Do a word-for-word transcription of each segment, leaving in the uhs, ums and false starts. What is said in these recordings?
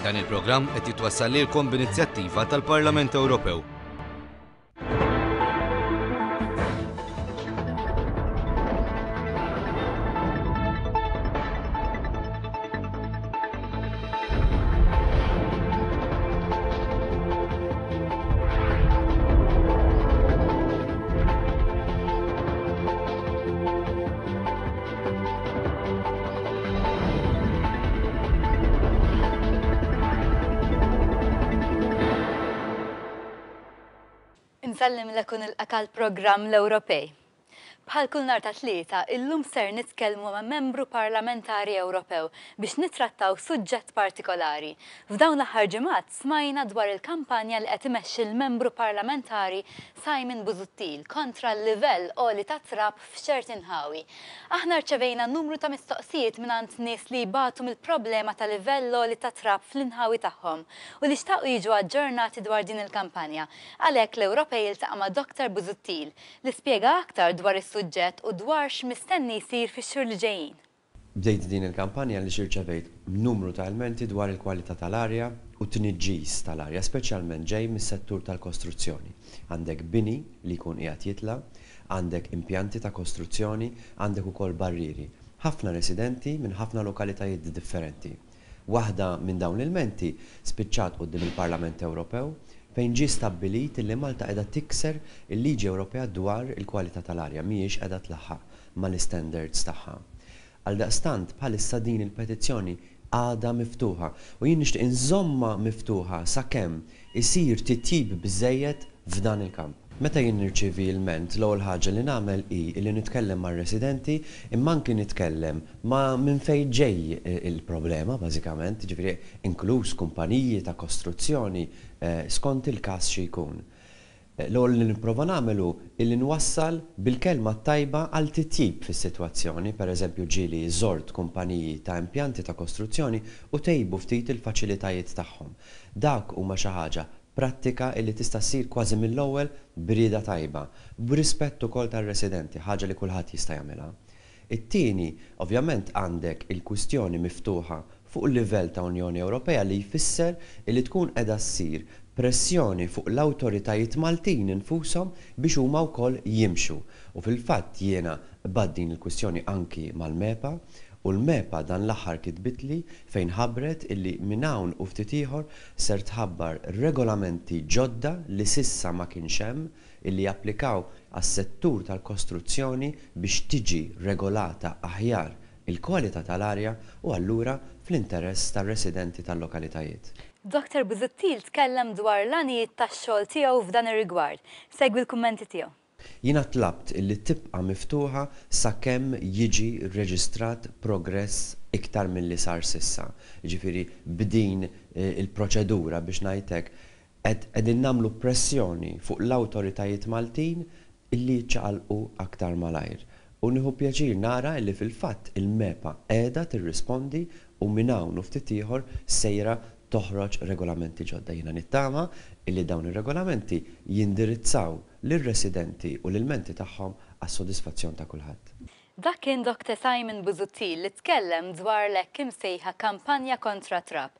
Dan il-programm qed jitwassal lilkom b'inizjattiva tal-Parlament Ewropew. Insellmilek u nilqgħek għall-programm L-Ewropej. Bħal kull nhar ta' Tlieta, illum ser nitkellmu ma' membru parlamentari Ewropew biex nitrattaw suġġett partikolari. F'dawn l-aħħar ġimgħat smajna dwar il-kampanja li qed imexxi l-membru parlamentari Simon Busuttil kontra l-livell għoli ta' trab f'ċerti nħawi. Aħna rċevejna numru ta' mistoqsijiet mingħand nies li jbatu mill-problema ta' livell għoli ta' trab fl-inħawi tagħhom u li xtaqu jiġu aġġornati dwar din il-kampanja. Għalhekk L-Ewropej iltaqa' ma' Doktor Busuttil li spjega aktar dwar is-suġġett u dwar x'mistenni jsir fix-xhur li ġejjin. Bdejt din il-kampanja li rċevejt numru ta' ilmenti dwar il-kwalità tal-arja u t-tniġġis tal-arja, speċjalment ġej mis-settur tal-kostruzzjoni. Għandek bini li jkun qiegħed jitla', għandek impjanti ta' kostruzzjoni, għandek ukoll barrieri. Ħafna residenti minn ħafna lokalitajiet differenti. Waħda minn dawn l-ilmenti spiċċat quddiem il-Parlament Ewropew fejn ġie stabbilit li Malta qiegħda tikser il-liġi Ewropea dwar il-kwalità tal-arja, mhijiex qiegħda tlaħħaq mal-istandards tagħha. Għaldaqstant bħalissa din il-petizzjoni għadha miftuħa u jien nixtieq inżommha miftuħa sakemm isir titjib biżejjed f'dan il-kamp. Meta jien nirċievi ilment, l-ewwel ħaġa li nagħmel hi li nitkellem mar-residenti imma anki nitkellem ma' minn fejn ġej il-problema bażikament, jiġifieri inkluż kumpaniji ta' kostruzzjoni skont il-każ xi jkun. L-ewwel li nipprova nagħmel hu illi nwassal bil-kelma t-tajba għal titjib fis-sitwazzjoni, pereżempju ġieli żort kumpaniji ta' impjanti ta' kostruzzjoni u tejbu ftit il-faċilitajiet tagħhom. Dak huma xi ħaġa prattika illi tista' ssir kważi mill-ewwel b'rieda tajba, b'rispett ukoll tar-residenti, ħaġa li kulħadd jista' jagħmilha. It-tieni, ovvjament għandek il-kwistjoni miftuħa fuq il-livell ta' Unjoni Ewropea li jfisser illi tkun qiegħda ssir pressjoni fuq l-awtoritajiet Maltin infushom biex huma wkoll jimxu. U fil-fatt jiena qbadt din il-kwistjoni anki mal-MEPA u l-MEPA dan l-aħħar kitbitli fejn ħabbret illi minn hawn u ftit ieħor ser tħabbar regolamenti ġodda li sissa ma kienx hemm illi japplikaw għas-settur tal-kostruzzjoni biex tiġi regolata aħjar il-kwalità tal-arja u allura fl-interess tar-residenti tal-lokalitajiet. Doktor Busuttil tkellem dwar l-għanijiet tax-xogħol tiegħu f'dan ir-rigward. Segwi l-kummenti tiegħu. Jiena tlabt illi tibqa' miftuħa sakemm jiġi rreġistrat progress iktar milli sar sissa. Jiġifieri b'din il-proċedura biex ngħid hekk qegħdin nagħmlu pressjoni fuq l-awtoritajiet Maltin illi jiċċaqalqu aktar malajr. U nieħu pjaċir nara illi fil-fatt il-MEPA qiegħda tirrispondi u minn hawn u ftit ieħor sejra toħroġ regolamenti ġodda. Jiena nittama illi dawn ir-regolamenti jindirizzaw lir-residenti u l-ilmenti tagħhom għas-sodisfazzjon ta' kulħadd. Dak kien Doktor Simon Busuttil li tkellem dwar l-hekk imsejħa kampanja kontra trab.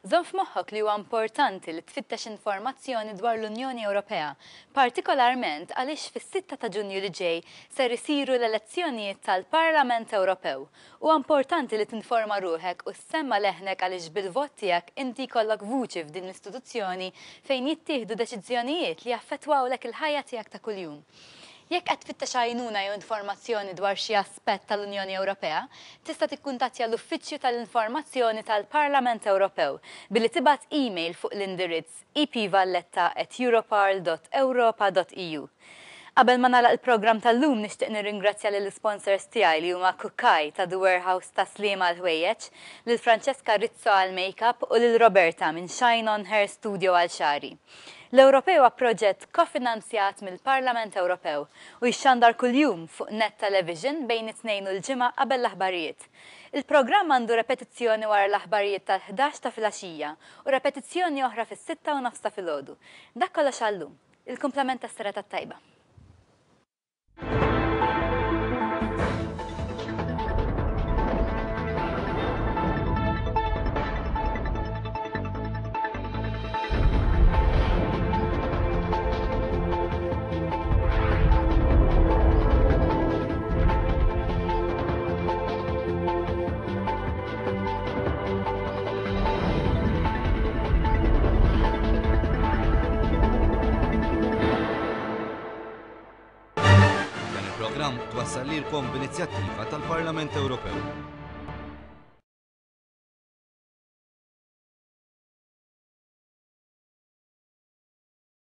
Żomm f'moħħok li huwa importanti li tfittex informazzjoni dwar l-Unjoni Ewropea, partikolarment għaliex fis-sitta ta' Ġunju li ġej ser isiru l-elezzjonijiet tal-Parlament Ewropew. Huwa importanti li tinforma ruħek u ssemma leħnek għaliex bil-vot tiegħek inti jkollok vuċi f'din l-istituzzjoni fejn jittieħdu deċiżjonijiet li jaffettwawlek il-ħajja tiegħek ta' kuljum. Jekk qed tfittex għajnuna jew informazzjoni dwar xi aspett tal-Unjoni Ewropea, tista' tikkuntattja l-Uffiċċju tal-Informazzjoni tal-Parlament Ewropew billi tibgħat email fuq l-indirizz e p valletta at europarl dot europa dot e u. Qabel ma nagħlaq il-programm tal-lum nixtieq nirringrazzja lill-sponsors tiegħi li huma Kukaj ta' The Warehouse ta' Sliema għal ħwejjeġ, lil Francesca Rizzo għal makeup u lil Roberta minn Shine On Hair Studio għal xagħri. L-Ewropej huwa proġett kofinanzjat mill-Parlament Ewropew u jixxandar kuljum fuq Net Television bejn it-Tnejn u l-Ġimgħa qabel l-aħbarijiet. Il-programm għandu repetizzjoni wara l-aħbarijiet tal-ħdax ta' filgħaxija u repetizzjoni oħra fis-sitta u nofs ta' filgħodu. Dak kollox għallum. Il-kumplament tas-serata tajba. Il-programm twassal lilkom b'inizjattiva tal-Parlament Ewropew.